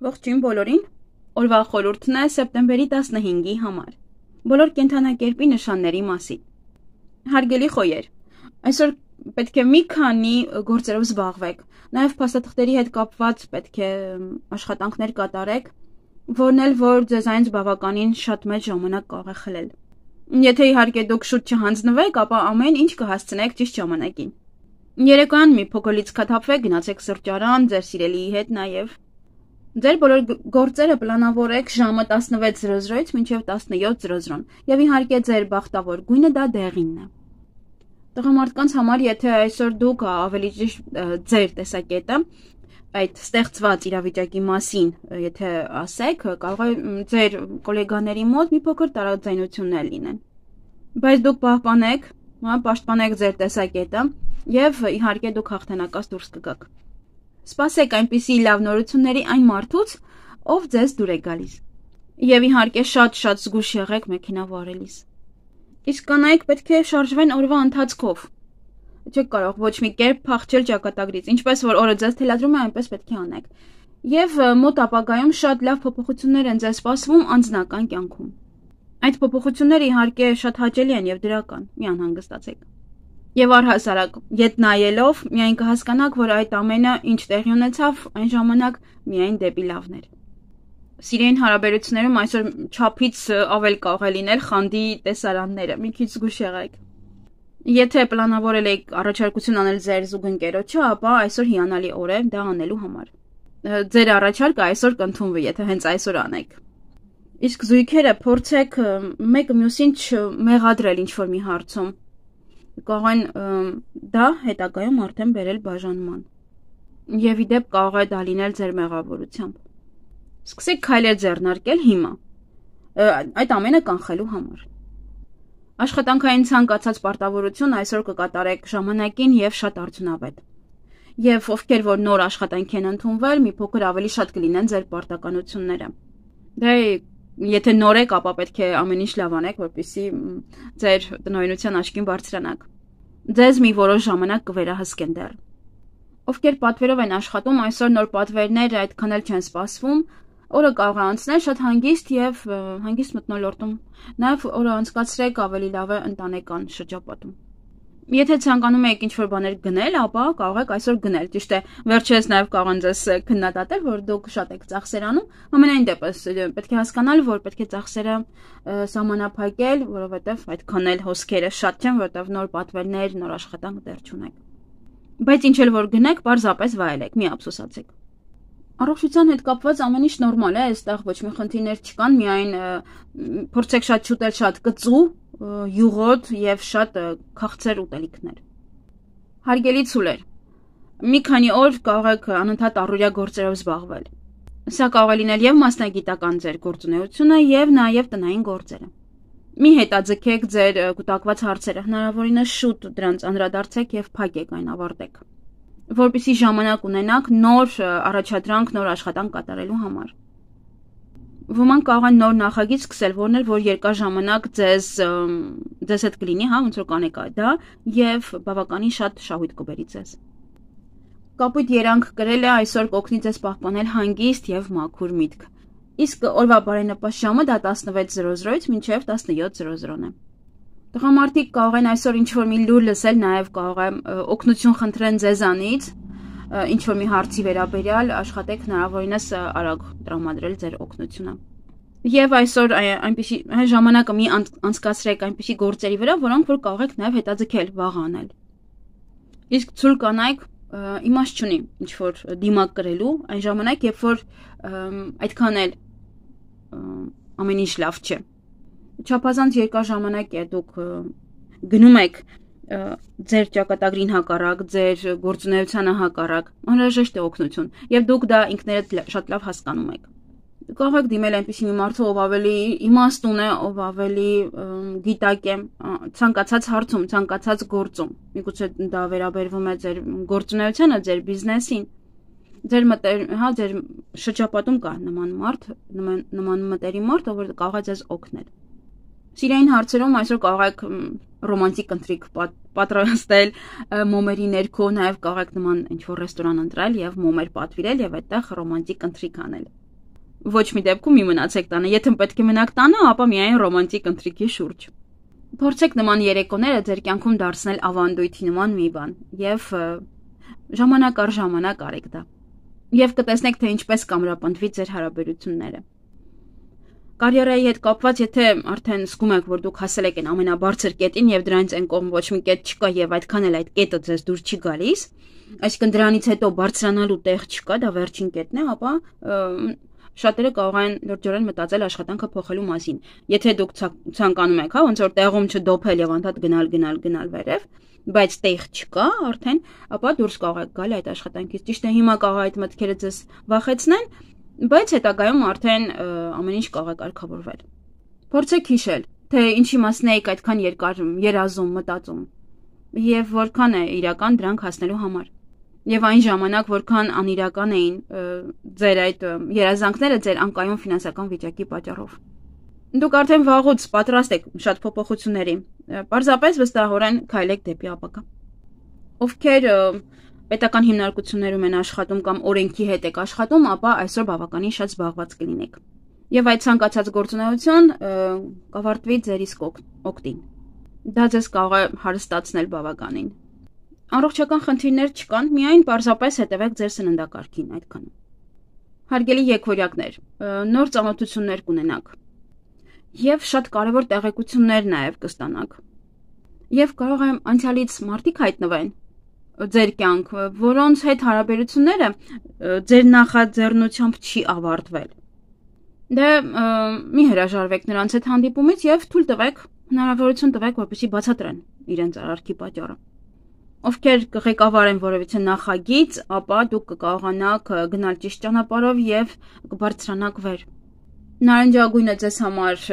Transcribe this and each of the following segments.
Ողջույն բոլորին։ Օրվա խորհուրդն է սեպտեմբերի 15-ի համար։ Բոլոր կենդանակերպի նշանների մասին։ Հարգելի խոյեր, այսօր պետք է մի քանի գործերով զբաղվեք։ Նաև փաստաթղթերի հետ կապված պետք է աշխատանքներ կատարեք, որն էլ որ ձեզ այն բավականին շատ մեծ ժամանակ կարող է խլել։ Եթե իհարկե դուք շուտ չհանձնվեք, ապա ամեն ինչ կհասցնեք ճիշտ ժամանակին։ Երեկոյան մի փոքր լիցքաթափվեք, գնացեք սրճարան, ձեր սիրելիի հետ նաև։ Ձեր բոլոր գործերը պլանավորեք ժամը 16:00-ից մինչև 17:00 եւ իհարկե ձեր բախտավոր գույնը դա դեղինն է։ Տղամարդկանց համար, եթե այսօր դուք ավելի ճիշտ ձեր տեսակետը այդ ստեղծված իրավիճակի մասին, եթե ասեք, կարող է ձեր գոլեգաների մոտ մի փոքր տարաձայնություններ լինեն։ Բայց դուք պաշտպանեք ձեր տեսակետը եւ իհարկե դուք հաղթանակած դուրս կգաք։ Սպասեք այնպիսի լավ նորությունների այն մարդուց, ով ձեզ դուր է գալիս։ Եվ իհարկե շատ զգուշ եղեք մեքենա վարելիս։ Իսկ կանայք պետք է շարժվեն օրվա ընթացքով։ Չեք կարող ոչ մի կերպ փախչել ճակատագրից, ինչպես որ օրը ձեզ թելադրում է, այնպես պետք է անեք։ Եվ մոտ ապագայում շատ լավ փոփոխություններ են ձեզ սպասվում անձնական կյանքում։ Այդ փոփոխությունները իհարկե շատ հաճելի են եւ դրական, մի անհանգստացեք։ Եվ առհասարակ, ետ նայելով, միայն կհասկանաք, որ այդ ամենը ինչ տեղի ունեցավ, այն ժամանակ միայն դեպի լավներ։ Սիրային հարաբերություններում այսօր չափից ավել կարող է լինել խանդի տեսարանները, մի քիչ զգուշ եղեք։ Եթե պլանավորել եք առաջարկություն անել ձեր զուգընկերոջը, ապա այսօր հիանալի օր է դա անելու համար։ Ձեր առաջարկը այսօր կընդունվի, եթե հենց այսօր անեք։ Իսկ զույգերը փորձեք մեկը մյուսին չմեղադրել ինչ-որ մի հարցում։ Կարող են դա հետագայում արդեն բերել բաժանման։ Եվ իդեպ կարող է դա լինել ձեր մեղավորությամբ։ Սկսեք քայլեր ձեռնարկել հիմա։ Այդ ամենը կանխելու համար։ Աշխատանքային ցանկացած պարտավորություն այսօր կկատարեք ժամանակին եւ շատ արդյունավետ։ Եվ ովքեր որ նոր աշխատանք են ընդունվել, մի փոքր ավելի շատ կլինեն ձեր պարտականությունները։ Դե եթե նոր եք, ապա պետք է ամեն ինչ լավ անեք, որպեսզի ձեր տնօրինության աչքին բարձրանաք։ Ձեզ մի որոշ ժամանակ կվերահսկեն դեռ։ Ովքեր պատվերով են աշխատում, այսօր նոր պատվերներ այդքան էլ չեն սպասվում, օրը կարող է անցնել շատ հանգիստ մթնոլորտում։ Նաև օրը անցկացրեք ավելի լավ է ընտանեկան շրջապատում։ Եթե ցանկանում եք ինչ-որ բաներ գնել, ապա կարող եք այսօր գնել։ Ճիշտ է, վերջերս նաև կարող են ձեզ քննադատել, որ դուք շատ եք ծախսեր անում, ամենայն դեպս պետք է հասկանալ, որ պետք է ծախսերը սահմանափակել, որովհետև այդքան էլ հոսքերը շատ չեն, որովհետև նոր պատվերներ, նոր աշխատանք դեռ չունեք։ Բայց ինչ էլ որ գնեք, պարզապես վայելեք, մի ափսոսացեք։ Առողջության հետ կապված ամեն ինչ նորմալ է, այստեղ ոչ մի խնդիրներ չկան, միայն փորձեք շատ շուտել շատ կծու, յուղոտ եւ շատ քաղցր ուտելիքներ։ Հարգելի ցուլեր, մի քանի օր կարող եք անընդհատ առօրյա գործերով զբաղվել։ Սա կարող է լինել եւ մասնագիտական ձեր գործունեությունը եւ նաեւ տնային գործերը։ Մի հետաձգեք ձեր կուտակված հարցերը, հնարավորինս շուտ դրանց անդրադարձեք եւ փակեք այն ավարտեք, որպեսզի ժամանակ ունենաք նոր առաջադրանք, նոր աշխատանք կատարելու համար։ Ոմանք կարող են նոր նախագիծ սկսել, որն էլ որ երկար ժամանակ ձեզ հետ կլինի, հա, ոնց որ կանեք դա, եւ բավականին շատ շահույթ կբերի ձեզ։ Կապույտ երանգ կրելը այսօր կօգնի ձեզ պահպանել հանգիստ եւ մաքուր միտք։ Իսկ օրվա բարենպաստ ժամը դա 16:00-ից մինչև 17:00 է։ Տղամարդիկ կարող են այսօր ինչ-որ մի լուր լսել, նաև կարող են օգնություն խնդրեն ձեզանից, ինչ-որ մի հարցի վերաբերյալ, աշխատեք հնարավորինս արագ տրամադրել ձեր օգնությունը։ Եվ այսօր այնպիսի ժամանակը մի անցկացրեք այնպիսի գործերի վրա, որոնք որ կարող եք նաև հետաձգել վաղ անել։ Իսկ ցույլ կանայք իմաստ չունի ինչ-որ դիմակ կրելու, այն ժամանակ, երբ որ այդքան էլ ամեն ինչ լավ չէ։ Չափազանց երկար ժամանակ է դուք գնում եք ձեր ճակատագրին հակառակ, ձեր գործունեությանը հակառակ, անհրաժեշտ է օգնություն, եւ դուք դա ինքներդ շատ լավ հասկանում եք։ Կարող եք դիմել այնպիսի մի մարդու, ով ավելի իմաստուն է, ով ավելի գիտակ է, ցանկացած հարցում, ցանկացած գործում։ Միգուցե դա վերաբերվում է ձեր գործունեությանը, ձեր բիզնեսին, ձեր շրջապատում կա նման մարդ, նման մտերի մարդ, ով կարող է ձեզ օգնել։ Սիրային հարցերում այսօր կարող եք ռոմանտիկ ընթրիք պատրաստել մոմերի ներքո, նաև կարող եք նման ինչ-որ ռեստորան ընտրել եւ մոմեր պատվիրել եւ այդտեղ ռոմանտիկ ընթրիք անել։ Ոչ մի դեպքում մի մնացեք տանը, եթե պետք է մնաք տանը, ապա միայն ռոմանտիկ ընթրիքի շուրջ։ Փորձեք նման երեկոները ձեր կյանքում դարձնել ավանդույթի նման մի բան եւ ժամանակ առ ժամանակ արեք դա։ Եվ կտեսնեք, թե ինչպես կամրապնդվի ձեր հարաբերությունները։ Կարիերայի հետ կապված, եթե արդեն զգում եք, որ դուք հասել եք այն ամենաբարձր կետին եւ դրանից այն կողմ ոչ մի կետ չկա եւ այդքան էլ այդ կետը ձեզ դուր չի գալիս, այսինքն դրանից հետո բարձրանալու տեղ չկա, դա վերջին կետն է, ապա շատերը կարող են լրջորեն մտածել աշխատանքը փոխելու մասին։ Եթե դուք ցանկանում եք, ոնց որ տեղում չդոփել եւ անդադ գնալ վերև, բայց տեղ չկա արդեն, ապա դուրս կարող եք գալ այդ աշխատանքից։ Ճիշտ է, հիմա կարող այդ մտքերը ձեզ վախեցնեն, բայց հետագայում արդեն ամեն ինչ կարող է կարգավորվել։ Փորձեք հիշել, թե ինչի մասն եք այդքան երկար երազում, մտածում եւ որքան է իրական դրանք հասնելու համար։ Եվ այն ժամանակ, որքան անիրական էին ձեր այդ երազանքները ձեր անկայուն ֆինանսական վիճակի պատճառով։ Դուք արդեն վաղուց պատրաստ եք շատ փոփոխությունների, պարզապես վստահորեն քայլեք դեպի ապագա։ Ովքեր պետական հիմնարկություններում են աշխատում կամ օրենքի հետ եք աշխատում, ապա այսօր բավականին շատ զբաղված կլինեք։ Եվ այդ ցանկացած գործունեություն կավարտվի ձեր իսկ օգտին։ Դա ձեզ կարող է հարստացնել բավականին։ Առողջական խնդիրներ չկան, միայն պարզապես հետևեք ձեր սննդակարգին այդքանը։ Հարգելի եկվորյակներ, նոր ծանոթություններ կունենաք եւ շատ կարեւոր տեղեկություններ նաեւ կստանաք։ Եվ կարող է անցյալից մարդիկ հայտնվեն ձեր կյանք, որոնց հետ հարաբերությունները ձեր նախաձեռնությամբ չի ավարտվել։ Դե մի հրաժարվեք նրանց հետ հանդիպումից եւ թույլ տվեք, հնարավորություն տվեք, որպեսզի բացատրեն իրենց արարքի պատճառը։ Ովքեր կղեկավարեն որևիցե նախագիծ, ապա դուք կկարողանաք գնալ ճիշտ ճանապարհով եւ կբարձրանաք վեր։ Նարնջագույնը ձեզ համար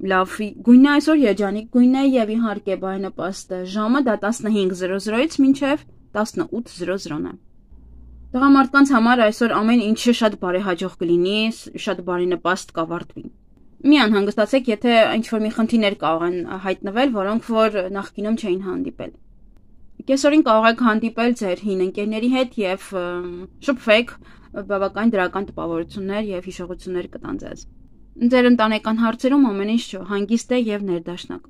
լավ գույն է այսօր, երջանիկ գույն է եւ իհարկե բարենպաստ ժամը դա 15:00-ից մինչեւ 18:00 է։ Տղամարդկանց համար այսօր ամեն ինչը շատ բարեհաջող կլինի, շատ բարենպաստ կավարտվի։ Մի անհանգստացեք, եթե ինչ-որ մի խնդիրներ կարող են հայտնվել, որոնք որ նախկինում չէին հանդիպել։ Կեսօրին կարող եք հանդիպել ձեր հին ընկերների հետ եւ շփվեք, բավական դրական տպավորություններ եւ հիշողություններ կտան ձեզ։ Ձեր ընտանեկան հարցերում ամեն ինչ հանգիստ է եւ ներդաշնակ։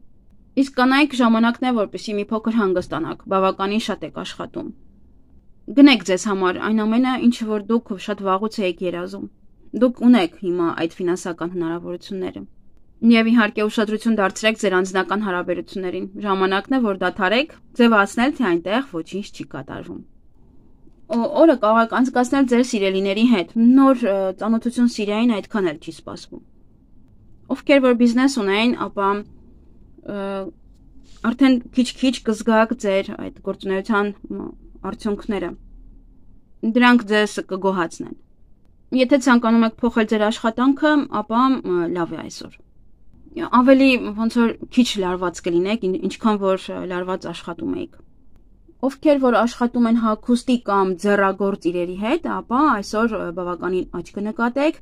Իսկ կանայք ժամանակն է, որպեսզի մի փոքր հանգստանաք, բավականին շատ եք աշխատում։ Գնեք ձեզ համար այն ամենը, ինչը որ դուք շատ վաղուց եք երազում։ Դուք ունեք հիմա այդ ֆինանսական հնարավորությունները։ Եվ իհարկե ուշադրություն դարձրեք ձեր անձնական հարաբերություններին։ Ժամանակն է, որ դադարեք ձևացնել, թե այնտեղ ոչինչ չի կատարվում։ Օրը կարող եք անցկացնել ձեր սիրելիների հետ։ Նոր ծանոթություն Սիրիային այդքան էլ չի սպասվում։ Ովքեր որ բիզնես ունեն, ապա արդեն քիչ-քիչ կզգաք ձեր այդ գործունեության արդյունքները։ Դրանք ձեզ կգոհացնեն։ Եթե ցանկանում եք փոխել ձեր աշխատանքը, ապա լավ է այսօր։ Ավելի ոնց որ քիչ լարված կլինեք, ինչքան որ լարված աշխատում եք։ Ովքեր որ աշխատում են հագուստի կամ ձեռագործ իրերի հետ, ապա այսօր բավականին աճ կնկատեք,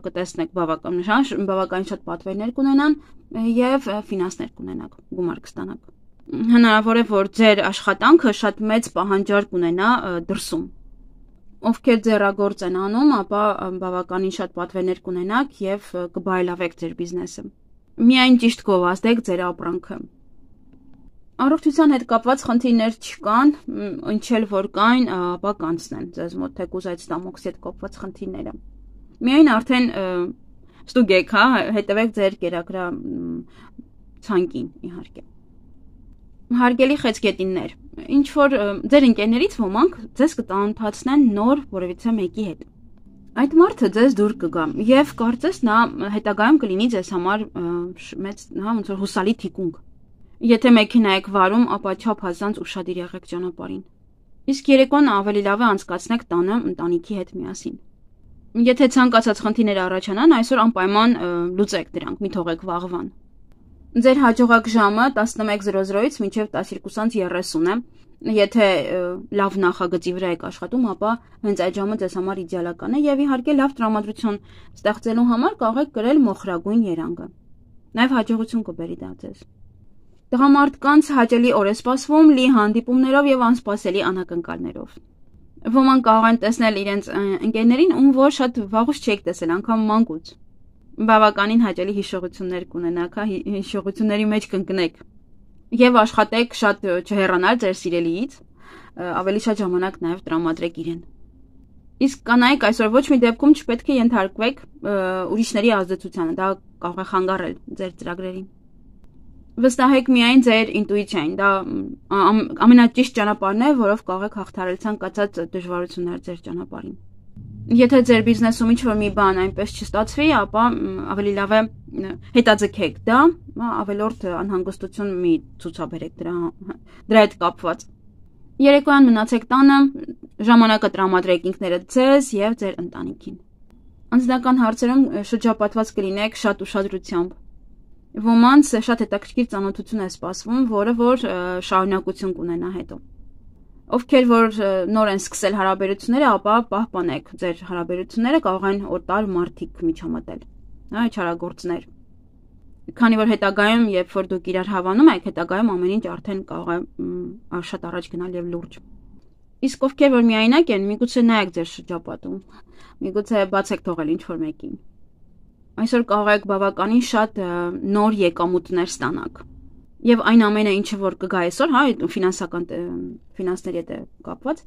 կտեսնեք բավականին շատ պատվերներ կունենան եւ ֆինանսներ կունենաք, գումար կստանաք։ Հնարավոր է, որ ձեր աշխատանքը շատ մեծ պահանջարկ ունենա դրսում։ Ովքեր ձեռագործ են անում, ապա բավականին շատ պատվերներ կունենաք եւ կբարելավեք ձեր բիզնեսը։ Միայն ճիշտ գովազդեք ձեր ապրանքը։ Առողջության հետ կապված խնդիրներ չկան, ինչ էլ որ կային, ապա կանցնեն ձեզ մոտ թեկուզ այդ ստամոքսի հետ կապված խնդիրները։ Միայն արդեն ստուգեք, հա, հետևեք ձեր կերակրա ցանկին, իհարկե։ Հարգելի խեցգետիններ, ինչ որ ձեր ընկերներից ոմանք ձեզ կտանոթացնեն նոր որևիցե մեկի հետ։ Այդ մարդը ձեզ դուր կգա եւ կարծես նա հետագայում կլինի ձեզ համար մեծ, հա, ոնց որ հուսալի թիկունք։ Եթե մեքենա եք վարում, ապա չափազանց ուշադիր եղեք ճանապարհին։ Իսկ երեկոն ավելի լավ է անցկացնեք տանը ընտանիքի հետ միասին։ Եթե ցանկացած խնդիրներ առաջանան, այսօր անպայման լուծեք դրանք, մի թողեք վաղվան։ Ձեր հաջողակ ժամը 11:00-ից մինչև 12:30 է։ Եթե լավ նախագծի վրա եք աշխատում, ապա հենց այդ ժամը ձեզ համար իդեալական է եւ իհարկե լավ տրամադրություն ստեղծելու համար կարող եք կրել մոխրագույն երանգը։ Նաեւ հաջողություն կբերի դա ձեզ։ Տղամարդկանց հաճելի օր է սպասվում լի հանդիպումներով եւ անսպասելի անակնկալներով։ Ոմանք կարող են տեսնել իրենց ընկերներին, ում որ շատ վաղուց չեք տեսել, անգամ մանկուց։ Բավականին հաճելի հիշողություններ կունենաք, հիշողությունների մեջ կընկնեք։ Եվ աշխատեք շատ չհեռանալ ձեր սիրելիից, ավելի շատ ժամանակ նաև տրամադրեք իրեն։ Իսկ կանայք այսօր ոչ մի դեպքում չպետք է ենթարկվեք ուրիշների ազդեցությանը, դա կարող է խանգարել ձեր ծրագրերին։ Վստահեք միայն ձեր ինտուիցիային, դա ամենաճիշտ ճանապարհն է, որով կարող եք հաղթահարել ցանկացած դժվարություններ ձեր ճանապարհին։ Եթե ձեր բիզնեսում ինչ-որ մի բան այնպես չստացվի, ապա ավելի լավ է հետաձգեք դա, ավելորդ անհանգստություն մի ցուցաբերեք դրա հետ կապված։ Երեկոյան մնացեք տանը, ժամանակը տրամադրեք ինքներդ ձեզ եւ ձեր ընտանիքին։ Անձնական հարցերում շրջապատված կլինեք շատ ուշադրությամբ։ Ոմանց շատ հետաքրքիր ծանոթություն է սպասվում, որը որ շարունակություն կունենա հետո։ Ովքեր որ նոր են սկսել հարաբերությունները, ապա պահպանեք ձեր հարաբերությունները, կարող են օտար մարդիկ միջամտել, չարագործներ։ Քանի որ հետագայում, երբ որ դուք իրար հավանում եք, հետագայում ամեն ինչ արդեն կարող է շատ առաջ գնալ եւ լուրջ։ Իսկ ովքեր որ միայնակ են, միգուցե նայեք ձեր շրջապատում, միգուցե բացեք թողել ինչ-որ մեկին։ Այսօր կարող եք բավականին շատ նոր եկամուտներ ստանաք։ Եվ այն ամենը, ինչը որ կգա այսօր, ֆինանսների հետ կապված,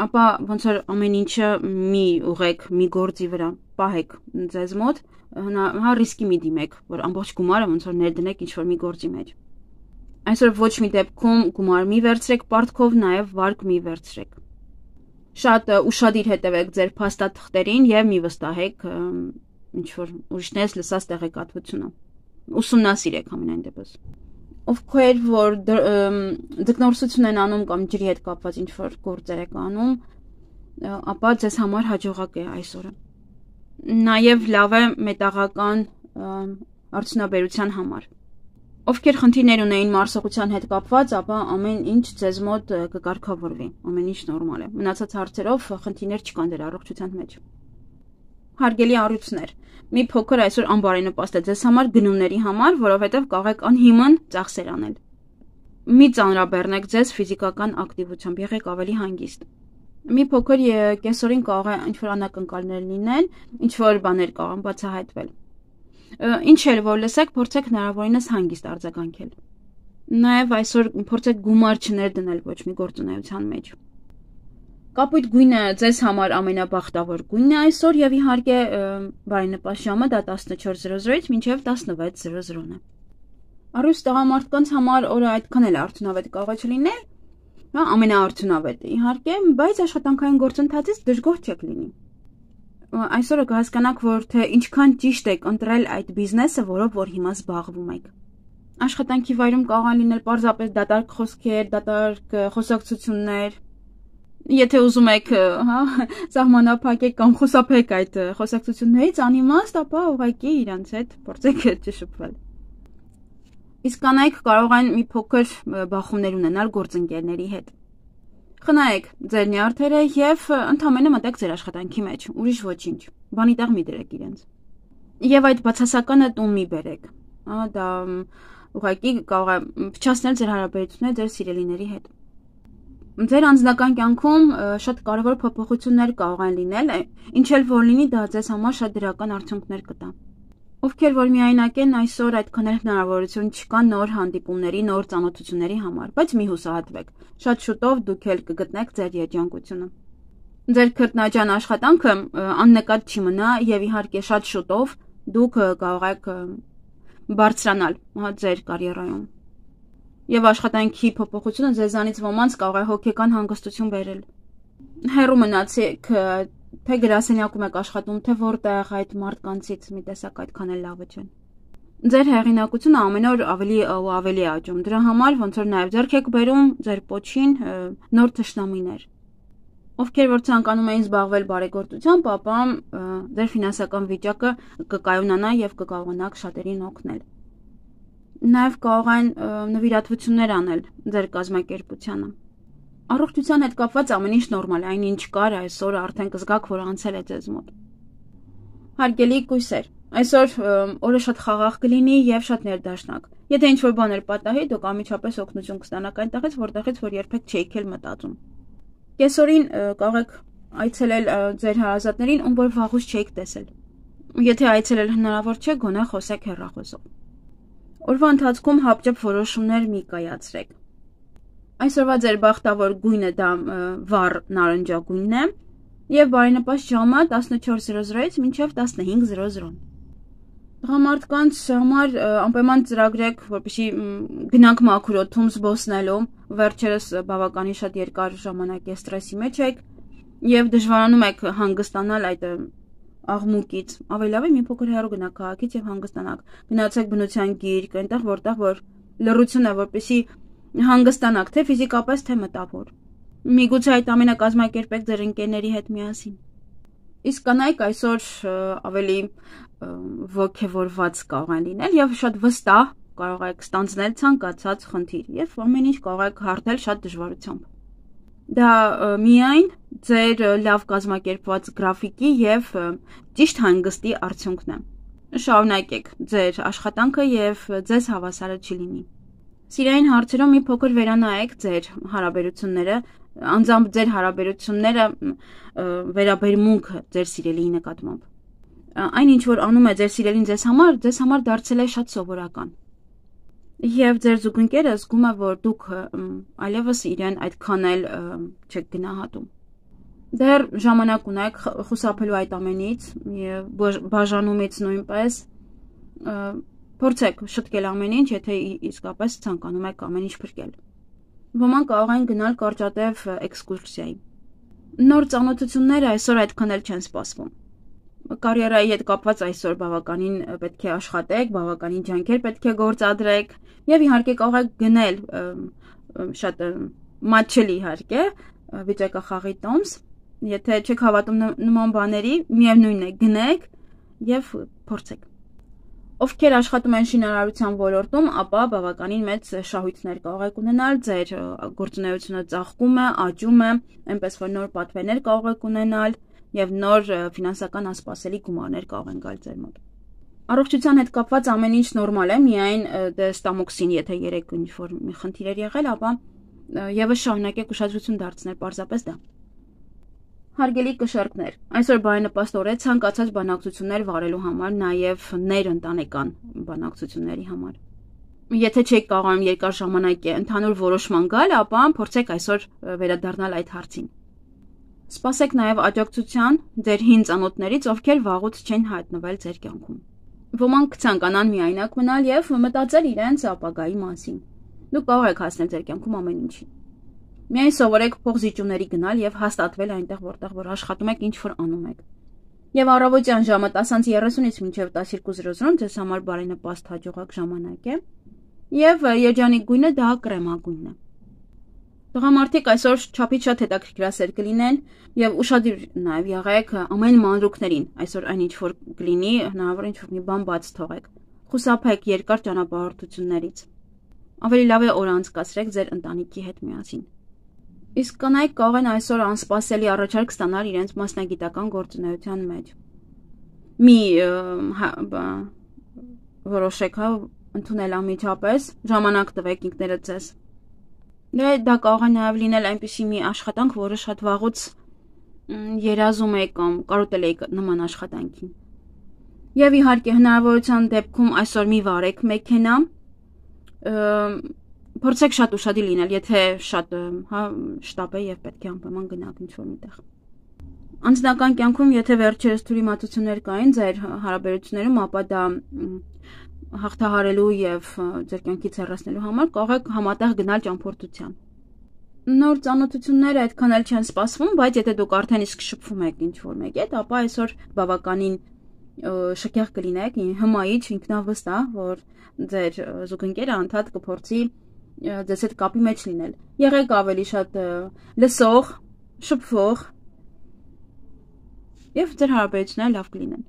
ապա ոնց որ ամեն ինչը մի ուղեք, մի գործի վրա, պահեք ձեզ մոտ, ռիսկի մի դիմեք, որ ամբողջ գումարը ոնց որ ներդնեք ինչ-որ մի գործի մեջ։ Այսօր ոչ մի դեպքում գումար մի վերցրեք պարտքով, նաև վարկ մի վերցրեք։ Շատ ուշադիր հետևեք ձեր փաստաթղթերին եւ մի վստահեք ինչ-որ ուրիշներից լսած տեղեկատվությունը։ Ուսումնասիրեք ամենայն դեպս։ Ովքեր որ ձկնորսություն են անում կամ ջրի հետ կապված ինչ-որ գործեր եք անում, ապա ձեզ համար հաջողակ է այսօրը։ Նաև լավ է մետաղական արդյունաբերության համար։ Ովքեր խնդիրներ ունեին մարսողության հետ կապված, ապա ամեն ինչ ձեզ մոտ կկարգավորվի, ամեն ինչ նորմալ է։ Մնացած հարցերով խնդիրներ չկան դեր առողջության մեջ։ Հարգելի առյուծներ, մի փոքր այսօր անբարենպաստ է ձեզ համար գնումների համար, որովհետև կարող եք անհիմն ծախսեր անել։ Մի ծանրաբեռնեք ձեզ ֆիզիկական ակտիվությամբ, եղեք ավելի հանգիստ։ Մի փոքր կեսօրին կարող է ինչ-որ անակնկալներ լինեն, ինչ-որ բաներ կարող են բացահայտվել։ Ինչ էլ որ լսեք, փորձեք հնարավորինս հանգիստ արձագանքել։ Նաև այսօր փորձեք գումար չներդնել ոչ մի գործունեության մեջ։ Կապույտ գույնը ձեզ համար ամենաբախտավոր գույնն է այսօր եւ իհարկե բարենպաստ ժամը դա 14:00-ից մինչեւ 16:00-ն է։ Առույց տղամարդկանց համար օրը այդքան էլ արդյունավետ կարող է չլինել, ամենաարդյունավետը իհարկե, բայց աշխատանքային գործընթացից դժգոհ չեք լինի։ Այսօրը կհասկանաք, որ թե ինչքան ճիշտ եք ընտրել այդ բիզնեսը, որով որ հիմա զբաղվում եք։ Աշխատանքի վայրում կարող են լինել պարզապես դատարկ խոսքեր, դատարկ խոսակցություններ։ Եթե ուզում եք, սահմանափակեք կամ խուսափեք այդ խոսակցություններից, անիմաստ, ապա ուղղակի իրանց հետ փորձեք չշփվել։ Իսկ կանայք կարող են մի փոքր բախումներ ունենալ գործընկերների հետ։ Խնայեք ձեր նյարդերը եւ ընդամենը մտեք ձեր աշխատանքի մեջ, ուրիշ ոչինչ։ Բանի տեղ մի դրեք իրենց։ Եվ այդ բացասականը տուն մի բերեք։ Դա ուղղակի կարող է փչացնել ձեր հարաբերությունները ձեր սիրելիների հետ։ Ձեր անձնական կյանքում շատ կարևոր փոփոխություններ կարող են լինել, ինչ էլ որ լինի, դա ձեզ համար շատ դրական արդյունքներ կտա։ Ովքեր որ միայնակ են, այսօր այդքան էլ հնարավորություն չկա նոր հանդիպումների, նոր ծանոթությունների համար, բայց մի հուսահատվեք։ Շատ շուտով դուք էլ կգտնեք ձեր երջանկությունը։ Ձեր քրտնաջան աշխատանքը աննկատ չի մնա եւ իհարկե շատ շուտով դուք կարող եք բարձրանալ ձեր կարիերայում։ Եվ աշխատանքի փոփոխությունը ձեզանից ոմանց կարող է հոգեկան հանգստություն բերել։ Հեռու մնացեք, թե գրասենյակում եք աշխատում, թե որտեղ այդ մարդկանցից մի տեսակ այդքան էլ լավը չեն։ Ձեր հեղինակությունը ամեն օր ավելի ու ավելի աճում։ Դրա համար ոնց որ նաև ձեռք եք բերում ձեր պոչին նոր թշնամիներ։ Ովքեր որ ցանկանում էին զբաղվել բարեգործությամբ, ապա ձեր ֆինանսական վիճակը կկայունանա եւ կկարողանաք շատերին օգնել։ Նաև կարող են նվիրատվություններ անել ձեր կազմակերպությանը։ Առողջության հետ կապված ամեն ինչ նորմալ է, այնինչ կար այսօր արդեն կզգաք, որ անցել է ձեզ մոտ։ Հարգելի կույսեր, այսօր օրը շատ խաղաղ կլինի եւ շատ ներդաշնակ։ Եթե ինչ-որ բաներ պատահի, դուք անմիջապես օգնություն կստանաք այնտեղից, որտեղից որ երբեք չէիք էլ մտածում։ Կեսօրին կարող եք այցելել ձեր հարազատներին, ում որ վաղուց չէիք տեսել։ Եթե այցելել հնարավոր չէ, գոնե խոսեք հեռախոսով։ Օրվա ընթացքում հապճեպ որոշումներ մի կայացրեք։ Այսօրվա ձեր բախտավոր գույնը դա վառ նարնջագույնն է եւ բարենպաստ ժամը 14:00-ից մինչեւ 15:00։ Տղամարդկանց համար անպայման ծրագրեք, որպեսզի գնանք մաքուր օդում զբոսնելու, վերջերս բավականին շատ երկար ժամանակ է ստրեսի մեջ եք եւ դժվարանում եք հանգստանալ այդ աղմուկից, ավելի լավ է մի փոքր հեռու գնաք քաղաքից եւ հանգստանաք, գնացեք բնության գիրք, այնտեղ որտեղ որ լռություն է, որպեսզի հանգստանաք, թե ֆիզիկապես, թե մտավոր։ Միգուցե այդ ամենը կազմակերպեք ձեր ընկերների հետ միասին։ Իսկ կանայք այսօր ավելի ոգևորված կարող են լինել եւ շատ վստահ կարող եք ստանձնել ցանկացած խնդիր եւ ամեն ինչ կարող եք հարթել շատ դժվարությամբ։ Դա միայն ձեր լավ կազմակերպված գրաֆիկի եւ ճիշտ հանգստի արդյունքն է։ Շարունակեք ձեր աշխատանքը եւ ձեզ հավասարը չի լինի։ Սիրային հարցերում մի փոքր վերանայեք ձեր հարաբերությունները, անձամբ ձեր հարաբերությունները վերաբերմունքը ձեր սիրելիի նկատմամբ։ Այն ինչ որ անում է ձեր սիրելին ձեզ համար դարձել է շատ սովորական։ Եվ ձեր զուգընկերը զգում է, որ դուք այլևս իրեն այդքան էլ չեք գնահատում։ Դեռ ժամանակ ունեք խուսափելու այդ ամենից եւ բաժանումից նույնպես փորձեք շտկել ամեն ինչ, եթե իսկապես ցանկանում եք ամեն ինչ փրկել։ Ոմանք կարող են գնալ կարճատև էքսկուրսիայի։ Նոր ծանոթությունները այսօր այդքան էլ չեն սպասվում։ Կարիերայի հետ կապված այսօր բավականին պետք է աշխատեք, բավականին ջանքեր պետք է գործադրեք եւ իհարկե կարող եք գնել շատ մատչելի իհարկե վիճակախաղի տոմս, եթե չեք հավատում նման բաների, միևնույն է գնեք եւ փորձեք։ Ովքեր աշխատում են շինարարության ոլորտում, ապա բավականին մեծ շահույթներ կարող եք ունենալ, ձեր գործունեությունը ծաղկում է, աճում է, այնպես որ նոր պատվերներ կարող եք ունենալ եւ նոր ֆինանսական անսպասելի գումարներ կարող են գալ ձեր մոտ։ Առողջության հետ կապված ամեն ինչ նորմալ է, միայն ստամոքսին, եթե երեք ինչ-որ մի խնդիր էր եղել, ապա եւս շարունակեք ուշադրություն դարձնել պարզապես դա։ Հարգելի կշեռքներ, այսօր բարենպաստ օր է ցանկացած բանակցություններ վարելու համար, նաեւ ներընտանեկան բանակցությունների համար։ Եթե չեք կարողանում երկար ժամանակ ընդհանուր որոշման գալ, ապա փորձեք այսօր վերադառնալ այդ հարցին։ Սպասեք նաև աջակցության ձեր հին ծանոթներից, ովքեր վաղուց չեն հայտնվել ձեր կյանքում։ Ոմանք կցանկանան միայնակ մնալ եւ մտածել իրենց ապագայի մասին։ Դուք կարող եք հասնել ձեր կյանքում ամեն ինչին։ Միայն սովորեք փողզիջումների գնալ եւ հաստատվել այնտեղ, որտեղ որ աշխատում եք, ինչ որ անում եք։ Եվ առավոտյան ժամը 10:30-ից մինչև 12:00 ձեզ համար բարենպաստ հաջողակ ժամանակ է։ Եվ երջանիկ գույնը դա կրեմագույնն է։ Տղամարդիկ այսօր չափից շատ հետաքրքրասեր կլինեն եւ ուշադիր նաեւ եղեք ամեն մանրուքներին։ Այսօր այն ինչ որ կլինի, հնարավոր ինչ որ մի բան բաց թողեք։ Խուսափեք երկար ճանապարհորդություններից։ Ավելի լավ է օր անցկացրեք ձեր ընտանիքի հետ միասին։ Իսկ կանայք կարող են այսօր անսպասելի առաջարկ ստանալ իրենց մասնագիտական գործունեության մեջ։ Մի որոշեք ընդունել անմիջապես, ժամանակ տվեք ինքներդ ձեզ։ Դա կարող է նաև լինել այնպիսի մի աշխատանք, որը շատ վաղուց երազում եք կամ կարոտել եք նման աշխատանքին։ Եվ իհարկե հնարավորության դեպքում այսօր մի վարեք մեքենա, փորձեք շատ ուշադիր լինել, եթե շատ շտապ է եւ պետք է անպայման գնաք ինչ-որ միտեղ։ Անձնական կյանքում, եթե վերջերս թյուրիմացություններ կային ձեր հարաբերություններում, ապա դա հաղթահարելու եւ ձեր կյանքից հեռացնելու համար կարող եք համատեղ գնալ ճամփորդության։ Նոր ծանոթությունները այդքան էլ չեն սպասվում, բայց եթե դուք արդեն իսկ շփվում եք ինչ-որ մեկի հետ, ապա այսօր բավականին շքեղ կլինեք, հմայիչ, ինքնավստահ, որ ձեր զուգընկերը անդադ կփորձի ձեզ հետ կապի մեջ լինել։ Եղեք ավելի շատ լսող, շփվող եւ ձեր հարաբերությունները լավ կլինեն։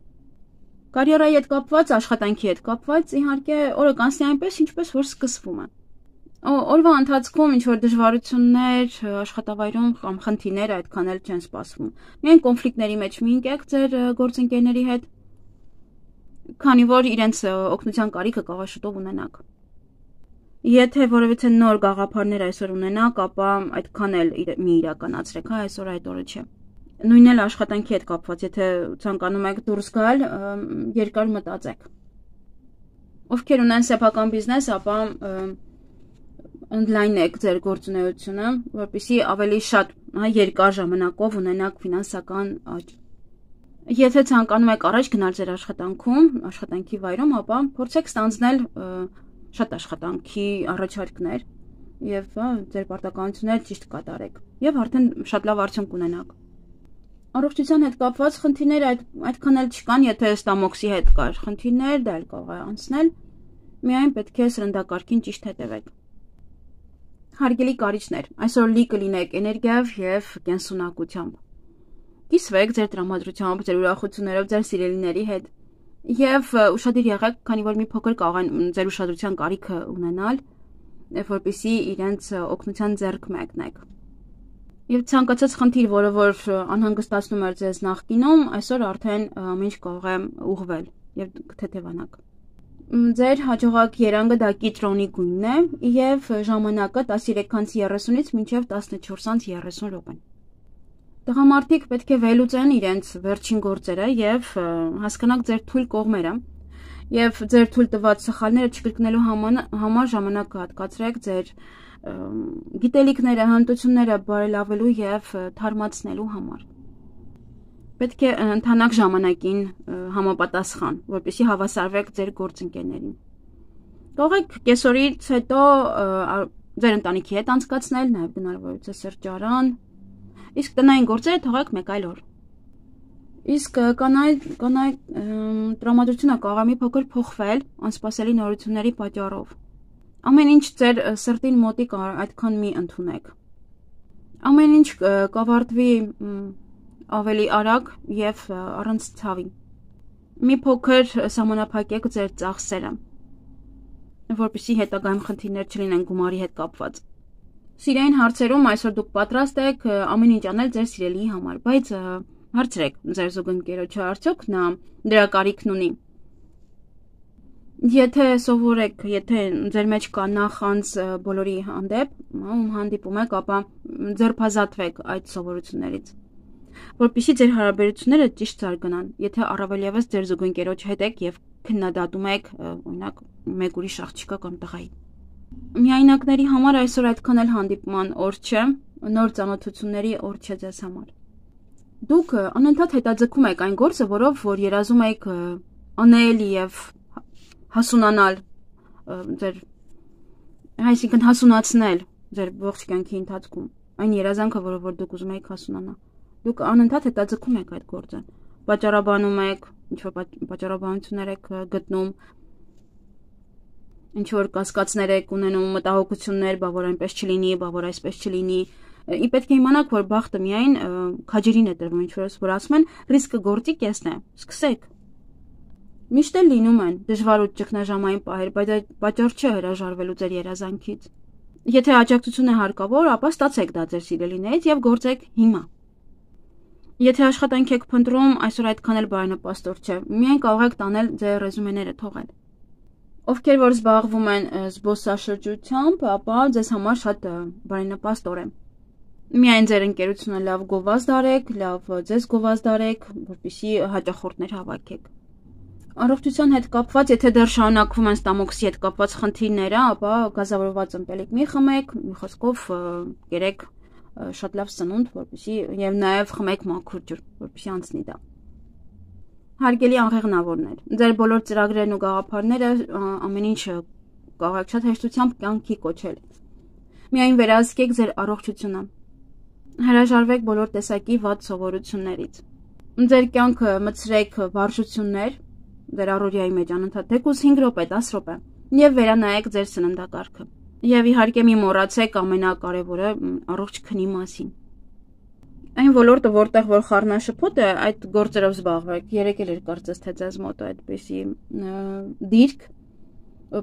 Կարիերայի հետ կապված, աշխատանքի հետ կապված, իհարկե, օրը կանցնի այնպես, ինչպես որ սկսվում է։ Օրվա ընթացքում ինչ որ դժվարություններ աշխատավայրում կամ խնդիրներ այդքան էլ չեն սպասվում։ Միայն կոնֆլիկտների մեջ մի ընկեք ձեր գործընկերների հետ, քանի որ իրենց օգնության կարիքը կարող է շուտով ունենաք։ Եթե որևիցե նոր գաղափարներ այսօր ունենաք, ապա այդքան էլ մի իրականացրեք, հա, այսօր այդ օրը չէ։ Նույնն էլ աշխատանքի հետ կապված, եթե ցանկանում եք դուրս գալ, երկար մտածեք։ Ովքեր ունեն սեփական բիզնես, ապա ընդլայնեք ձեր գործունեությունը, որպեսզի ավելի շատ, հա, երկար ժամանակով ունենաք ֆինանսական աճ։ Եթե ցանկանում եք առաջ գնալ ձեր աշխատանքում, աշխատանքի վայրում, ապա փորձեք ստանձնել շատ աշխատանքի առաջարկներ եւ ձեր պարտականությունները ճիշտ կատարեք եւ արդեն շատ լավ արդյունք կունենաք։ Առողջության հետ կապված խնդիրներ այդքան էլ չկան, եթե ստամոքսի հետ կար խնդիրներ, դա էլ կարող է անցնել, միայն պետք է սրնդակարգին ճիշտ հետևեք։ Հարգելի կարիճներ, այսօր լի կլինեք էներգիայով եւ կենսունակությամբ։ Կիսվեք ձեր տրամադրությամբ, ձեր ուրախություններով, ձեր սիրելիների հետ եւ ուշադիր եղեք, քանի որ մի փոքր կարող են ձեր ուշադրության կարիքը ունենալ, որպեսզի իրենց օգնության ձեռք մեկնեք։ Եվ ցանկացած խնդիր, որը որ անհանգստացնում էր ձեզ նախկինում, այսօր արդեն ամեն ինչ կարող է ուղղվել եւ կթեթևանաք։ Ձեր հաջողակ երանգը դա կիտրոնի գույնն է եւ ժամանակը 13:30-ից մինչեւ 14:30 րոպե։ Տղամարդիկ պետք է վերլուծեն իրենց վերջին գործերը եւ հասկանաք ձեր թույլ կողմերը եւ ձեր թույլ տված սխալները չկրկնելու համար ժամանակ հատկացրեք ձեր գիտելիքները, հմտությունները բարելավելու եւ թարմացնելու համար։ Պետք է ընթանաք ժամանակին համապատասխան, որպեսզի հավասարվեք ձեր գործընկերներին։ Կարող եք կեսօրից հետո ձեր ընտանիքի հետ անցկացնել, նաեւ գնալ որևիցե սրճարան, իսկ տնային գործերը թողեք մեկ այլ օր։ Իսկ կանայք տրամադրությունը կարող է մի փոքր փոխվել անսպասելի նորությունների պատճառով։ Ամեն ինչ ձեր սրտին մոտիկ այդքան մի ընդունեք։ Ամեն ինչ կավարտվի ավելի արագ եւ առանց ցավի։ Մի փոքր սահմանափակեք ձեր ծախսերը, որպեսզի հետագայում խնդիրներ չլինեն գումարի հետ կապված։ Սիրային հարցերում այսօր դուք պատրաստ եք ամեն ինչ անել ձեր սիրելիի համար, բայց հարցրեք ձեր զուգընկերոջը, արդյոք նա դրա կարիքն ունի։ Եթե սովորեք, եթե ձեր մեջ կա նախանձ բոլորի հանդեպ, հանդիպում եք, ապա ձերբազատվեք այդ սովորություններից, որպեսզի ձեր հարաբերությունները ճիշտ զարգանան։ Եթե առավել եւս ձեր զուգընկերոջ հետ եք եւ քննադատում եք, օրինակ, մեկ ուրիշ աղջիկա կամ տղայի։ Միայնակների համար այսօր այդքան էլ հանդիպման օր չէ, նոր ծանոթությունների օր չէ ձեզ համար։ Դուք անընդհատ հետաձգում եք այն գործը, որով որ երազում եք անել եւ հասունանալ ձեր, այսինքն հասունացնել ձեր ողջ կյանքի ընթացքում այն երազանքը, որով որ դուք ուզում եք հասունանալ։ Դուք անընդհատ հետաձգում եք այդ գործը, պատճառաբանում եք, ինչ որ պատճառաբանություններ եք գտնում, ինչ որ կասկածներ եք ունենում, մտահոգություններ, բա որ այնպես չլինի, բա որ այսպես չլինի։ Պետք է իմանաք, որ բախտը միայն քաջերին է տրվում, ինչ որ ասում են, ռիսկը գործի կեսն է, սկսեք։ Միշտ էլ լինում են դժվար ու ճգնաժամային պահեր, բայց այդ պատճառ չէ հրաժարվելու ձեր երազանքից։ Եթե աջակցություն է հարկավոր, ապա ստացեք դա ձեր սիրելիներից եւ գործեք հիմա։ Եթե աշխատանք եք փնտրում, այսօր այդքան էլ բարենպաստ չէ, միայն կարող եք տանել ձեր ռեզումեները թողել։ Ովքեր որ զբաղվում են զբոսաշրջությամբ, ապա ձեզ համար շատ բարենպաստ օր է։ Միայն ձեր ընկերությունը լավ գովազդարեք, լավ ձեզ գովազդարեք, որպեսզի հաճախորդներ հավաքեք։ Առողջության հետ կապված, եթե դեռ շարունակվում են ստամոքսի հետ կապված խնդիրները, ապա գազավորված ըմպելիք մի խմեք, մի խոսքով կերեք շատ լավ սնունդ, որպեսզի եւ նաեւ խմեք մաքուր ջուր, որպեսզի անցնի դա։ Հարգելի աղեղնավորներ, ձեր բոլոր ծրագրերն ու գաղափարները ամեն ինչ կարող եք շատ հեշտությամբ կյանքի կոչել։ Միայն վերահսկեք ձեր առողջությունը։ Հրաժարվեք բոլոր տեսակի վատ սովորություններից։ Ձեր կյանքը մցրեք վարժություններ, ձեր առօրյայի մեջ անընդհատ թեկուզ 5 րոպե, 10 րոպե, եւ վերանայեք ձեր սննդակարգը։ Եվ իհարկե մի մոռացեք ամենակարևորը առողջ քնի մասին։ Այն ոլորտը, որտեղ որ խառնաշփոթ է, այդ գործերով զբաղվեք։ Երեք էլ կարծես թե ձեզ մոտ է այդպեսի դիրք,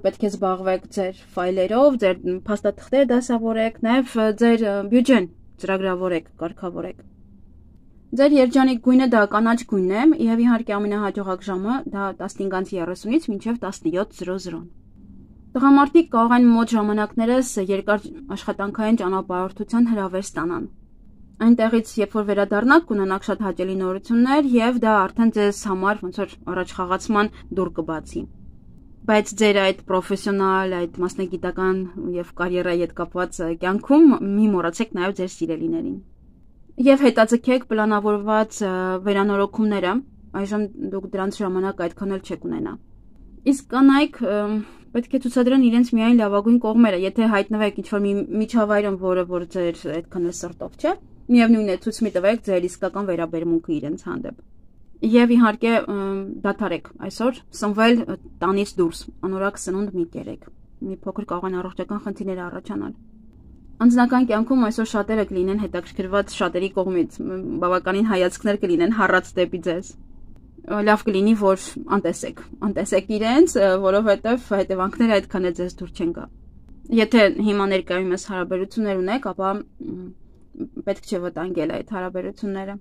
պետք է զբաղվեք ձեր ֆայլերով, ձեր փաստաթղթերը դասավորեք, նաեւ ձեր բյուջեն ծրագրավորեք, կարգավորեք։ Ձեր երջանիկ գույնը դա կանաչ գույնն է, եւ իհարկե ամենահաջողակ ժամը դա 15:30-ից մինչեւ 17:00։ Տղամարդիկ կարող են մոտ ժամանակներս երկար աշխատանքային ճանապարհորդության հրավեր ստանան։ Այնտեղից, երբ որ վերադառնաք, կունենաք շատ հաճելի նորություններ եւ դա արդեն ձեզ համար ոնց որ առաջխաղացման դուռ կբացի։ Բայց ձեր այդ պրոֆեսիոնալ, այդ մասնագիտական եւ կարիերայի հետ կապված կյանքում մի մոռացեք նաեւ ձեր սիրելիներին։ Եվ հետաձգեք պլանավորված վերանորոգումները, այժմ դուք դրանց ժամանակ այդքան էլ չեք ունենա։ Իսկ կանայք պետք է ցուցադրեն իրենց միայն լավագույն կողմերը, եթե հայտնվեք ինչ-որ մի միջավայրում, որ ձեր այդքան էլ սրտով չէ, միևնույն է ցույց մի տվեք ձեր իսկական վերաբերմունքը իրենց հանդեպ։ Եվ իհարկե դադարեք այսօր սնվել տանից դուրս, անորակ սնունդ մի կերեք։ Մի փոքր կարող են առողջական խնդիրներ առաջանալ։ Անձնական կյանքում այսօր շատերը կլինեն հետաքրքրված շատերի կողմից, բավականին հայացքներ կլինեն հառած դեպի ձեզ։ Լավ կլինի, որ անտեսեք իրենց, որովհետև հետևանքները այդքան է ձեզ դուր չեն գա։ Եթե հիմա ներկայումս հարաբերություններ ունեք, ապա պետք չէ վտանգել այդ հարաբերությունները։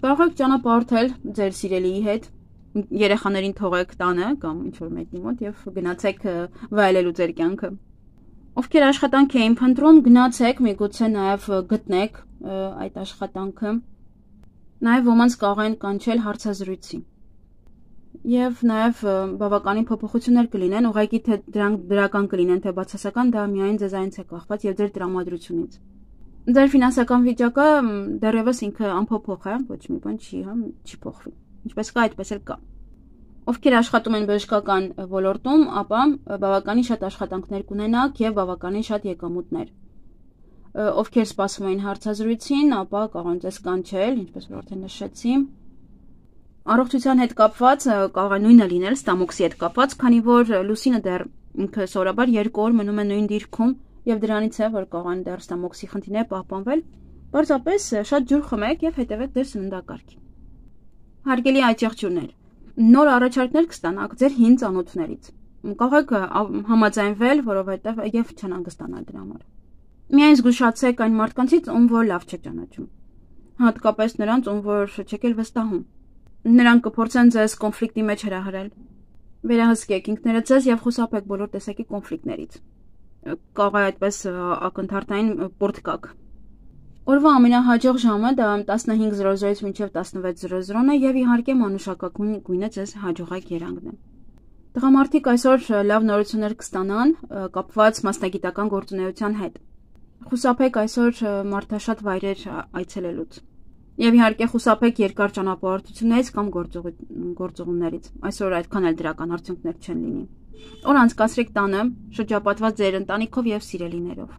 Կարող եք ճանապարհորդել ձեր սիրելիի հետ, երեխաներին թողեք տանը կամ ինչ-որ մեկի մոտ եւ գնացեք վայելելու ձեր կյանքը։ Ովքեր աշխատանք էին փնտրում, գնացեք, միգուցե նաեւ գտնեք այդ աշխատանքը։ Նաև ոմանց կարող են կանչել հարցազրույցի։ Եվ նաև բավականին փոփոխություններ կլինեն, ուղղակի թե դրանք դրական կլինեն, թե բացասական, դա միայն ձեզանից է կախված եւ ձեր տրամադրությունից։ Ձեր ֆինանսական վիճակը դեռևս ինքը անփոփոխ է, ոչ մի բան չի փոխվի։ Ինչպես կա, այդպես էլ կա։ Ովքեր աշխատում են բժշկական ոլորտում, ապա բավականին շատ աշխատանքներ կունենաք եւ բավականին շատ եկամուտներ։ Ովքեր սպասում էին հարցազրույցին, ապա կարող են ձեզ կանչել, ինչպես որ արդեն նշեցի։ Առողջության հետ կապված կարող է նույնը լինել ստամոքսի հետ կապված, քանի որ լուսինը դեռ ինքը սովորաբար 2 օր մնում է նույն դիրքում եւ դրանից է որ կարող են դեռ ստամոքսի խնդիրներ պահպանվել։ Պարզապես շատ ջուր խմեք եւ հետեւեք ձեր սննդակարգին։ Հարգելի այցեղջուրներ, նոր առաջարկներ կստանաք ձեր հին ծանոթներից։ Կարող եք համաձայնվել, որովհետեւ եւ չանհանգստանալ դրա համար։ Միայն զգուշացեք այն մարդկանցից, ում որ լավ չեք ճանաչում։ Հատկապես նրանց, ում որ չեք էլ վստահում։ Նրանք կփորձեն ձեզ կոնֆլիկտի մեջ հրահրել։ Վերահսկեք ինքներդ ձեզ եւ խուսափեք բոլոր տեսակի կոնֆլիկտներից։ Կարող է այդպես ակնթարթային պորտ կաք։ Օրվա ամենահաջող ժամը դա 15:00-ից մինչև 16:00 է եւ իհարկե մանուշակագույն գույնը ձեզ հաջողակ երանգն է։ Տղամարդիկ այսօր լավ նորություններ կստանան կապված մասնագիտական գործունեության հետ։ Խուսափեք այսօր մարդաշատ վայրեր այցելելուց։ Եվ իհարկե խուսափեք երկար ճանապարհորդություններից կամ գործողումներից։ Այսօր այդքան էլ դրական արդյունքներ չեն լինի։ Օր անցկացրեք տանը, շրջապատված ձեր ընտանիքով եւ սիրելիներով։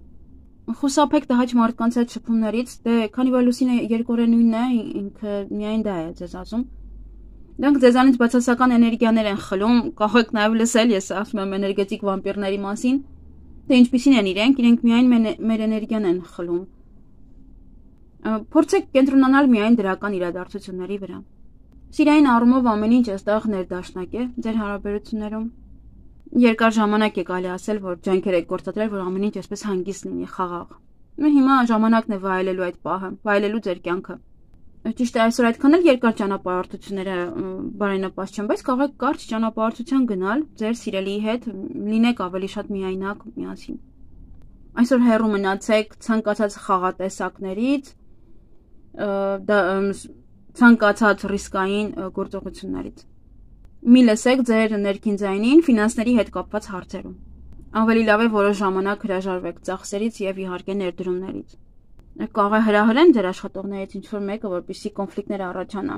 Խուսափեք տհաճ մարդկանց հետ շփումներից, դե քանի որ լուսինը երկօրենույնն է, ինքը միայն դա է ձեզ ասում։ Դրանք ձեզանից բացասական էներգիաներ են խլում, կարող եք նաեւ լսել, ես ասում եմ էներգետիկ վամպիրների մասին, թե ինչպիսին են իրենք միայն մեր էներգիան են խլում։ Փորձեք կենտրոնանալ միայն դրական իրադարձությունների վրա։ Սիրային առումով ամեն ինչ այստեղ ներդաշնակ է ձեր հարաբերություններում։ Երկար ժամանակ է կարելի ասել, որ ջանքեր եք գործադրել, որ ամեն ինչ այսպես հանգիստ լինի, խաղաղ։ Հիմա ժամանակն է վայելելու այդ պահը, վայելելու ձեր կյանքը։ Ճիշտ է, այսօր այդքան էլ երկար ճանապարհորդությունները բարենպաստ չեն, բայց կարող եք կարճ ճանապարհորդության գնալ ձեր սիրելիի հետ, լինեք ավելի շատ միայնակ միասին։ Այսօր հեռու մնացեք ցանկացած խաղատեսակներից, ցանկացած ռիսկային գործողություններից։ Մի լսեք ձեր ներքին ձայնին ֆինանսների հետ կապված հարցերում։ Ավելի լավ է որոշ ժամանակ հրաժարվեք ծախսերից եւ իհարկե ներդրումներից։ Կարող է հրահրեն ձեր աշխատողներից ինչ-որ մեկը, որպեսզի կոնֆլիկտներ առաջանա,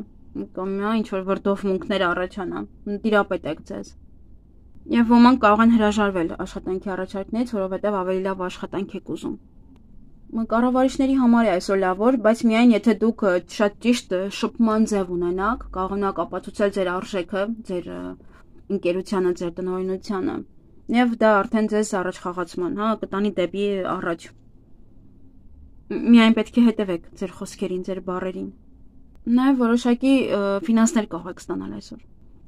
կամ ինչ-որ վրդովմունքներ առաջանա, տիրապետեք ձեզ։ Եվ ոմանք կարող են հրաժարվել աշխատանքի առաջարկներից, որովհետև ավելի լավ աշխատանք եք ուզում։ Կառավարիչների համար է այսօր լավ օր, բայց միայն եթե դուք շատ ճիշտ շփման ձև ունենաք, կարողանաք ապացուցել ձեր արժեքը, ձեր ընկերությանը, ձեր տնօրինությանը, եւ դա արդեն ձեզ առաջխաղացման, կտանի դեպի առաջ։ Միայն պետք է հետևեք ձեր խոսքերին, ձեր բառերին։ Նաեւ որոշակի ֆինանսներ կարող եք ստանալ այսօր։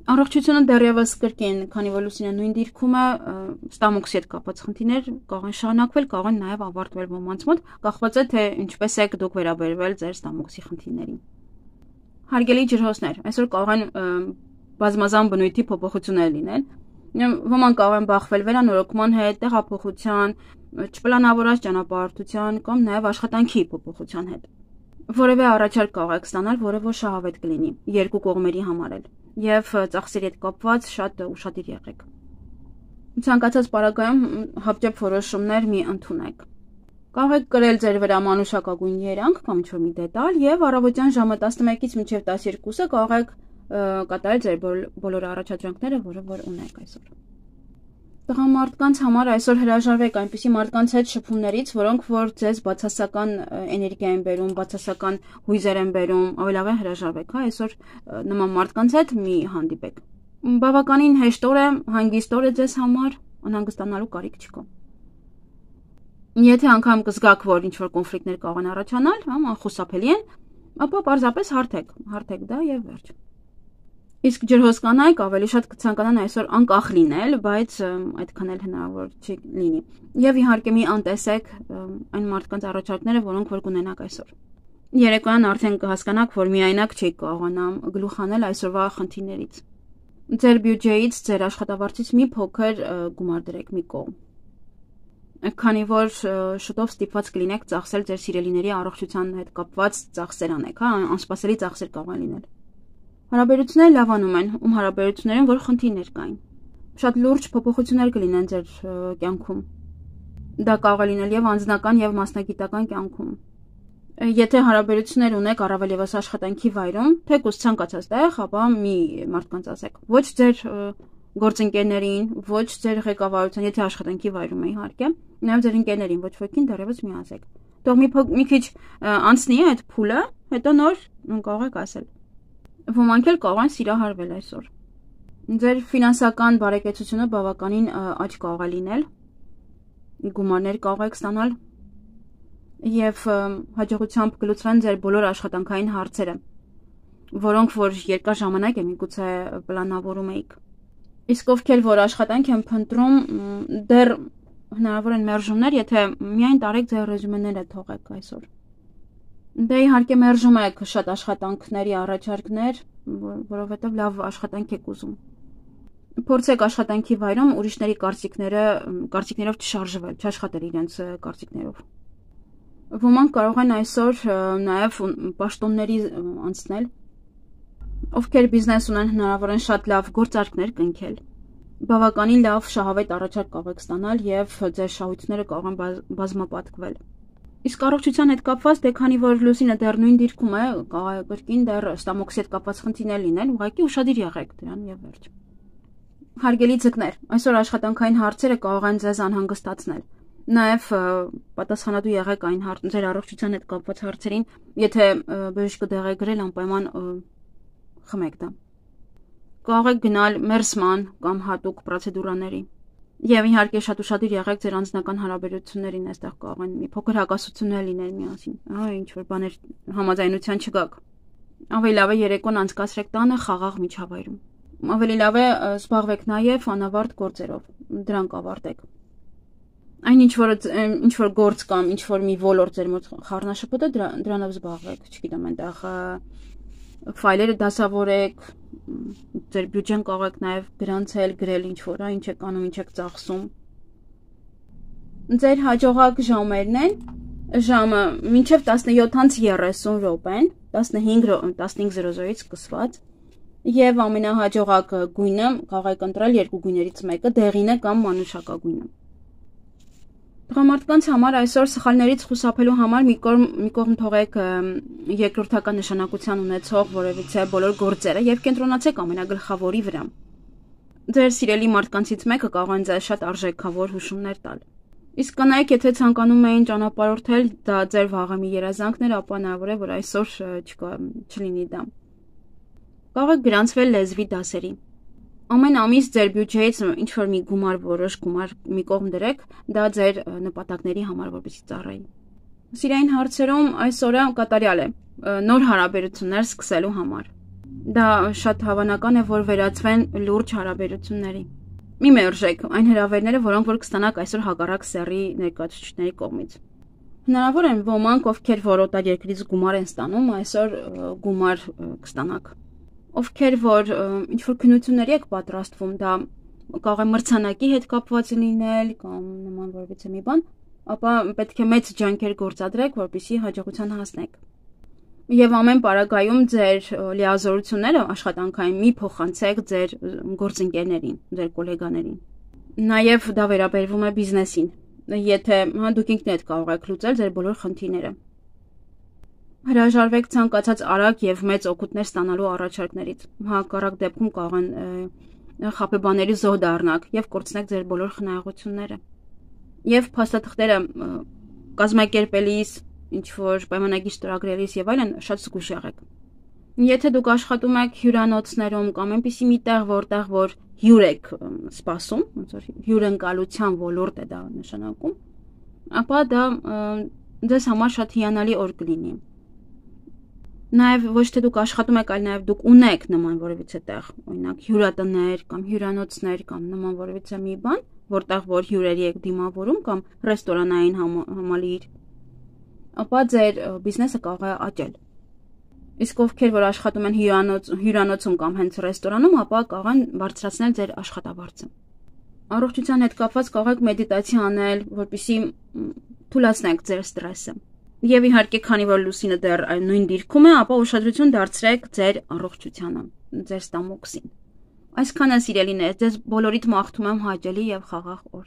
Առողջությունը դեռևս կրկին, քանի որ լուսինը նույն դիրքում է, ստամոքսի հետ կապված խնդիրներ կարող են շարունակվել, կարող են նաեւ ավարտվել ոմանց մոտ, կախված է թե ինչպես եք դուք վերաբերվել ձեր ստամոքսի խնդիրներին։ Հարգելի ջրհոսներ, այսօր կարող են բազմազան բնույթի փոփոխություններ լինել։ Ոմանք կարող են բախվել վերանորոգման հետ, տեղափոխության, չպլանավորած ճանապարհորդության կամ նաև աշխատանքի փոփոխության հետ։ Որևէ առաջարկ կարող եք ստանալ, որը որ շահավետ կլինի երկու կողմերի համար էլ, եւ ծախսերի հետ կապված շատ ուշադիր եղեք։ Ցանկացած պարագայում հապճեպ որոշումներ մի ընդունեք։ Կարող եք կրել ձեր վրա մանուշակագույն երանգ կամ ինչ-որ մի դետալ եւ առավոտյան ժամը 11-ից մինչեւ 12-ը կարող եք կատարել ձեր բոլոր առաջադրանքները, որը որ ունեք այսօր։ Տղամարդկանց համար այսօր հրաժարվեք այնպիսի մարդկանց հետ շփումներից, որոնք որ ձեզ բացասական էներգիա են բերում, բացասական հույզեր են բերում, ավելի լավ է հրաժարվեք, հա, այսօր նման մարդկանց հետ մի հանդիպեք։ Բավականին հեշտ օր է, հանգիստ օր է ձեզ համար, անհանգստանալու կարիք չկա։ Եթե անգամ կզգաք, որ ինչ-որ կոնֆլիկտներ կարող են առաջանալ, անխուսափելի են, ապա պարզապես հարթեք դա եւ վերջ։ Իսկ ջրհոս կանայք ավելի շատ կցանկանան այսօր անկախ լինել, բայց այդքան էլ հնարավոր չի լինի։ Եվ իհարկե մի անտեսեք այն մարդկանց առաջարկները, որոնք որ կունենաք այսօր։ Երեկոյան արդեն կհասկանաք, որ միայնակ չեք կարողանա գլուխ հանել այսօրվա խնդիրներից։ Ձեր բյուջեից, ձեր աշխատավարձից մի փոքր գումար դրեք մի կողմ։ Քանի որ շուտով ստիպված կլինեք ծախսել ձեր սիրելիների առողջության հետ կապված ծախսեր անեք, հա, անսպասելի ծախսեր կարող են լինել։ Հարաբերությունները լավանում են, հարաբերություններում որ խնդիրներ կային։ Շատ լուրջ փոփոխություններ կլինեն ձեր կյանքում։ Դա կարող է լինել եւ անձնական եւ մասնագիտական կյանքում։ Եթե հարաբերություններ ունեք առավել եւս աշխատանքի վայրում, թեկուզ ցանկացած տեղ, ապա մի մարդկանց ասեք։ Ոչ ձեր գործընկերներին, ոչ ձեր ղեկավարության, եթե աշխատանքի վայրում է իհարկե, նաեւ ձեր ընկերներին, ոչ ոքին դեռևս մի ասեք։ Թող մի քիչ անցնի այդ փուլը, հետո նոր կարող եք ասել։ Ոմանք էլ կարող են սիրահարվել այսօր։ Ձեր ֆինանսական բարեկեցությունը բավականին աճ կարող է լինել, գումարներ կարող եք ստանալ եւ հաջողությամբ կլուծվեն ձեր բոլոր աշխատանքային հարցերը, որոնք որ երկար ժամանակ է միգուցե պլանավորում եք։ Իսկ ովքեր որ աշխատանք են փնտրում, դեռ հնարավոր են մերժումներ, եթե միայն տարեք ձեր ռեզյումեները թողեք այսօր։ Դե իհարկե մերժում եք շատ աշխատանքների առաջարկներ, որովհետև լավ աշխատանք եք ուզում։ Փորձեք աշխատանքի վայրում ուրիշների կարծիքներով չշարժվել, չաշխատել իրենց կարծիքներով։ Ոմանք կարող են այսօր նաև պաշտոնների անցնել, ովքեր բիզնես ունեն, հնարավոր են շատ լավ գործարքներ կնքել։ Բավականին լավ շահավետ առաջարկ կարող եք ստանալ եւ ձեր շահույթները կարող են բազմապատկվել։ Իսկ առողջության հետ կապված, դե քանի որ լուսինը դեռ նույն դիրքում է, կարող է կրկին դեռ ստամոքսի հետ կապված խնդիրներ լինեն, ուղղակի ուշադիր եղեք դրան եւ վերջ։ Հարգելի ձկներ, այսօր աշխատանքային հարցերը կարող են ձեզ անհանգստացնել։ Նաեւ պատասխանատու եղեք այն ձեր առողջության հետ կապված հարցերին, եթե բժիշկը դեղ է գրել, անպայման խմեք դա։ Կարող եք գնալ մերսման կամ հատուկ պրոցեդուրաների։ Եվ իհարկե շատ ուշադիր եղեք ձեր անձնական հարաբերություններին, այստեղ կարող են մի փոքր հակասություններ լինել միասին։ Ինչ որ բաներ համաձայնության չգաք։ Ավելի լավ է երեկոն անցկացրեք տանը խաղաղ միջավայրում։ Ավելի լավ է զբաղվեք նաև անավարտ գործերով, դրանք ավարտեք։ Այն ինչ որ գործ կամ ինչ որ մի ոլորտ ձեր մոտ խառնաշփոթ է, դրանով զբաղվեք, չգիտեմ, այնտեղ ֆայլերը դասավորեք, ձեր բյուջեն կարող եք նաև գրանցել, գրել ինչ որ, ինչ եք անում, ինչ եք ծախսում։ Ձեր հաջողակ ժամերն են, ժամը մինչև 17:30 րոպեն, 15:00-ից սկսված, եւ ամենահաջողակ գույնը կարող եք ընտրել երկու գույներից մեկը, դեղինը կամ մանուշակագույնը։ Տղամարդկանց համար այսօր սխալներից խուսափելու համար մի կողմ թողեք երկրորդական նշանակության ունեցող որևիցե բոլոր գործերը եւ կենտրոնացեք ամենագլխավորի վրա։ Ձեր սիրելի մարդկանցից մեկը կարող է ձեզ շատ արժեքավոր հուշումներ տալ։ Իսկ կանայք, եթե ցանկանում էին ճանապարհորդել, դա ձեր վաղեմի երազանքն էր, ապա հնարավոր է, որ այսօր չլինի դա։ Կարող եք գրանցվել լեզվի դասերի։ Ամեն ամիս ձեր բյուջեից ինչ որ մի որոշ գումար մի կողմ դրեք, դա ձեր նպատակների համար որպեսզի ծառայի։ Սիրային հարցերում այս օրը կատարյալ է նոր հարաբերություններ սկսելու համար։ Դա շատ հավանական է, որ վերածվեն լուրջ հարաբերությունների։ Մի մերժեք այն հրավերները, որոնք որ կստանաք այսօր հակառակ սեռի ներկայացուցիչների կողմից։ Հնարավոր է ոմանք, ովքեր որ օտարերկրից գումար են ստանում, այսօր գումար կստանաք։ Ովքեր որ ինչ որ քննությունների եք պատրաստվում, դա կարող է մրցանակի հետ կապված լինել կամ նման որևիցե մի բան, ապա պետք է մեծ ջանքեր գործադրեք, որպեսզի հաջողության հասնեք։ Եվ ամեն պարագայում ձեր լիազորությունները աշխատանքային մի փոխանցեք ձեր գործընկերներին, ձեր գոլեգաներին։ Նաև դա վերաբերվում է բիզնեսին։ Եթե դուք ինքներդ կարող եք լուծել ձեր բոլոր խնդիրները։ Հրաժարվեք ցանկացած արագ եւ մեծ օգուտներ ստանալու առաջարկներից։ Հակառակ դեպքում կարող են խաբեբաների զոհ դառնաք եւ կորցնեք ձեր բոլոր խնայողությունները։ Եվ փաստաթղթերը կազմակերպելիս, ինչ որ պայմանագիր ստորագրելիս եւ այլն շատ զգույշ եղեք։ Եթե դուք աշխատում եք հյուրանոցներում կամ այնպիսի մի տեղ, որտեղ որ հյուր եք սպասում, ոնց որ հյուրընկալության ոլորտ է դա նշանակում, ապա դա ձեզ համար շատ հիանալի օր կլինի։ Նաև ոչ թե դուք աշխատում եք, այլ նաև դուք ունեք նման որևիցե տեղ, օրինակ հյուրատներ կամ հյուրանոցներ կամ նման որևիցե մի բան, որտեղ որ հյուրերի եք դիմավորում կամ ռեստորանային համալիր, ապա ձեր բիզնեսը կարող է աճել։ Իսկ ովքեր որ աշխատում են հյուրանոցում կամ հենց ռեստորանում, ապա կարող են բարձրացնել ձեր աշխատավարձը։ Առողջության հետ կապված կարող եք մեդիտացիա անել, որպեսզի թուլացնեք ձեր ստրեսը։ Եվ իհարկե, քանի որ լուսինը դեռ նույն դիրքում է, ապա ուշադրություն դարձրեք ձեր առողջությանը, ձեր ստամոքսին։ Այսքանը սիրելիներ, ձեզ բոլորիդ մաղթում եմ հաճելի եւ խաղաղ օր։